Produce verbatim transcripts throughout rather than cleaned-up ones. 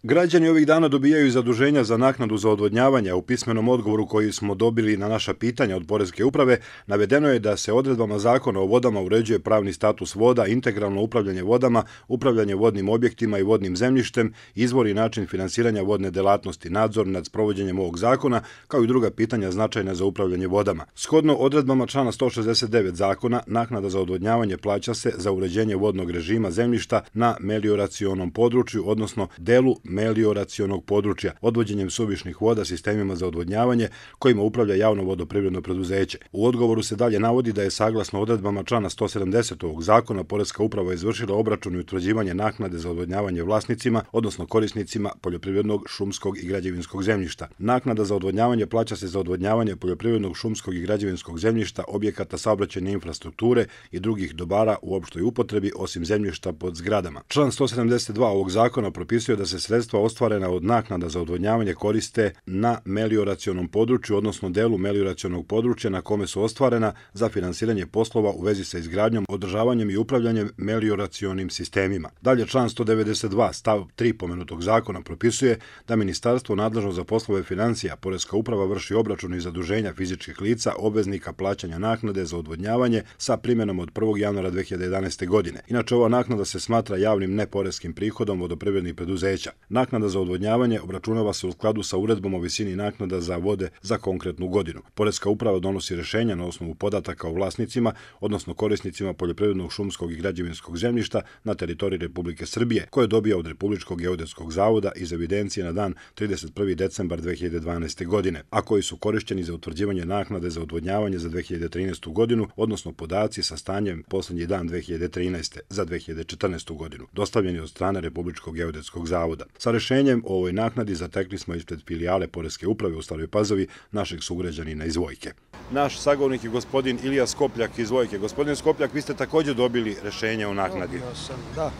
Građani ovih dana dobijaju zaduženja za naknadu za odvodnjavanje. U pismenom odgovoru koji smo dobili na naša pitanja od Poreske uprave navedeno je da se odredbama Zakona o vodama uređuje pravni status voda, integralno upravljanje vodama, upravljanje vodnim objektima i vodnim zemljištem, izvor i način finansiranja vodne delatnosti, nadzor nad sprovođenjem ovog zakona, kao i druga pitanja značajna za upravljanje vodama. Shodno odredbama člana sto šezdeset devet zakona, naknada za odvodnjavanje plaća se za uređenje vodnog režima zemljišta na melioracionom području, odnosno delu melioracionog područja, odvođenjem suvišnih voda sistemima za odvodnjavanje kojima upravlja javno vodoprivredno preduzeće. U odgovoru se dalje navodi da je saglasno odredbama člana sto sedamdeset ovog zakona Poreska uprava izvršila obračun i utvrđivanje naknade za odvodnjavanje vlasnicima, odnosno korisnicima poljoprivrednog, šumskog i građevinskog zemljišta. Naknada za odvodnjavanje plaća se za odvodnjavanje poljoprivrednog, šumskog i građevinskog zemljišta, objekata saobraćajne infrastrukture i drugih dobara u opštoj upotrebi osim zemljišta pod zgradama. Član sto sedamdeset dva ovog zakona propisuje da se sredstva ostvarena od naknada za odvodnjavanje koriste na melioracionom području, odnosno delu melioracionog područja na kome su ostvarena za finansiranje poslova u vezi sa izgradnjom, održavanjem i upravljanjem melioracionim sistemima. Dalje, član sto devedeset dva stav tri pomenutog zakona propisuje da ministarstvo nadležno za poslove financija, Poreska uprava vrši obračun i zaduženja fizičkih lica obveznika plaćanja naknade za odvodnjavanje sa primjenom od prvog januara dve hiljade jedanaeste. godine. Inače, ova naknada se smatra javnim neporeskim prihodom vodoprivrednih preduzeća. Naknada za odvodnjavanje obračunava se u skladu sa uredbom o visini naknada za vode za konkretnu godinu. Poreska uprava donosi rešenja na osnovu podataka o vlasnicima, odnosno korisnicima poljoprivrednog, šumskog i građevinskog zemljišta na teritoriji Republike Srbije, koje dobija od Republičkog geodetskog zavoda iz evidencije na dan trideset prvi decembar dve hiljade dvanaeste. godine, a koji su korišćeni za utvrđivanje naknade za odvodnjavanje za dve hiljade trinaestu. godinu, odnosno podaci sa stanjem poslednji dan dve hiljade trinaeste. za dve hiljade četrnaestu. godinu, dostavljeni od strane Republičkog geodetskog zavoda. Sa rešenjem o ovoj naknadi zatekli smo ispred filijale Poreske uprave u Staroj Pazovi našeg sugrađanina iz Vojke. Naš sagovornik je gospodin Ilija Skopljak iz Vojke. Gospodin Skopljak, vi ste također dobili rešenje o naknadi. Dobio sam, da.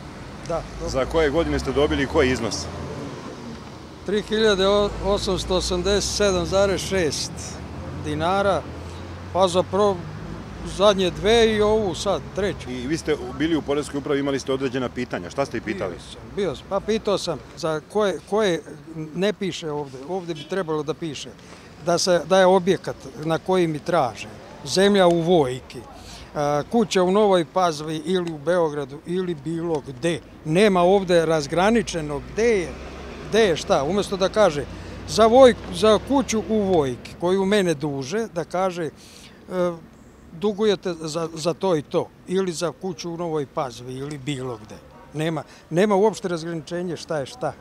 da Za koje godine ste dobili i koji iznos? tri hiljade osamsto osamdeset sedam zarez šest dinara, pa za pro... zadnje dve i ovu sad, treću. I vi ste bili u Poreskoj upravi, imali ste određena pitanja. Šta ste i pitali? Bio sam, bio sam. Pa pitao sam za koje, koje ne piše ovde. Ovde bi trebalo da piše da, se, da je objekat na koji mi traže. Zemlja u Vojki, kuća u Novoj Pazovi ili u Beogradu ili bilo gde. Nema ovde razgraničeno gde je, gde je šta. Umesto da kaže za, voj, za kuću u Vojki koju mene duže, da kaže dugujete za, za to i to, ili za kuću u Novoj Pazovi, ili bilo gde. Nema, nema uopšte razgraničenje šta je šta.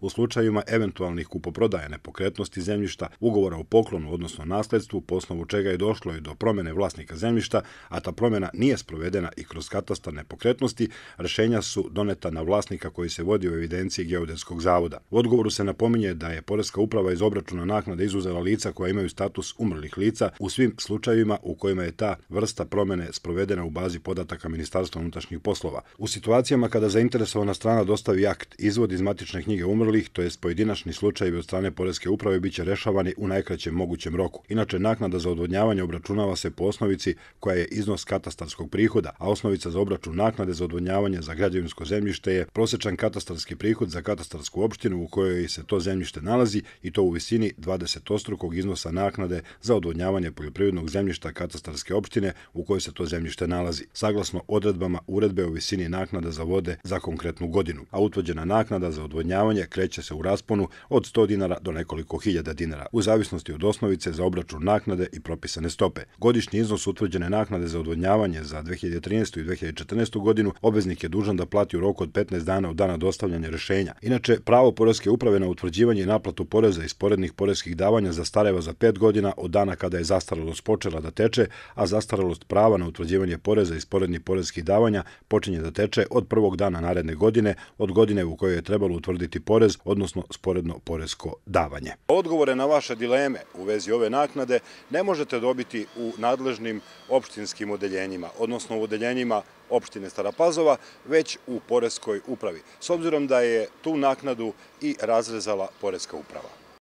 U slučajevima eventualnih kupoprodaje nepokretnosti zemljišta, ugovora o poklonu, odnosno nasledstvu, po osnovu čega je došlo i do promene vlasnika zemljišta, a ta promjena nije sprovedena i kroz katastar nepokretnosti, rešenja su doneta na vlasnika koji se vodi u evidenciji Geodetskog zavoda. U odgovoru se napominje da je Poreska uprava iz obračuna naknade izuzela lica koja imaju status umrlih lica u svim slučajevima u kojima je ta vrsta promene sprovedena u bazi podataka Ministarstva unutrašnjih poslova. U situacijama kada zainteresovana strana dostavi akt, izvod iz matične knjige umrlih, to jest pojedinačni slučajevi od strane Poreske uprave, biće rešavani u najkraćem mogućem roku. Inače, naknada za odvodnjavanje obračunava se po osnovici koja je iznos katastarskog prihoda, a osnovica za obračun naknade za odvodnjavanje za građevinsko zemljište je prosečan katastarski prihod za katastarsku opštinu u kojoj se to zemljište nalazi, i to u visini dvadesetostrukog iznosa naknade za odvodnjavanje poljoprivrednog zemljišta katastarske opštine u kojoj se to zemljište nalazi, saglasno odredbama uredbe o visini naknada za vode za konkretnu godinu, a utvrđena naknada za odvodnjavanje kreće se u rasponu od sto dinara do nekoliko hiljada dinara, u zavisnosti od osnovice za obračun naknade i propisane stope. Godišnji iznos utvrđene naknade za odvodnjavanje za dve hiljade trinaestu. i dve hiljade četrnaestu. godinu obveznik je dužan da plati u roku od petnaest dana od dana dostavljanja rešenja. Inače, pravo Poreske uprave na utvrđivanje i naplatu poreza i sporednih poreskih davanja zastareva za pet godina od dana kada je zastarelost počela da teče, a zastarelost prava na utvrđivanje poreza i sporednih poreskih davanja počinje da teče od prvog dana naredne godine, od godine u kojoj je trebalo utvrditi porez, odnosno sporedno poresko davanje. Odgovore na vaše dileme u vezi ove naknade ne možete dobiti u nadležnim opštinskim odeljenjima, odnosno u odeljenjima opštine Stara Pazova, već u Poreskoj upravi, s obzirom da je tu naknadu i razrezala Poreska uprava.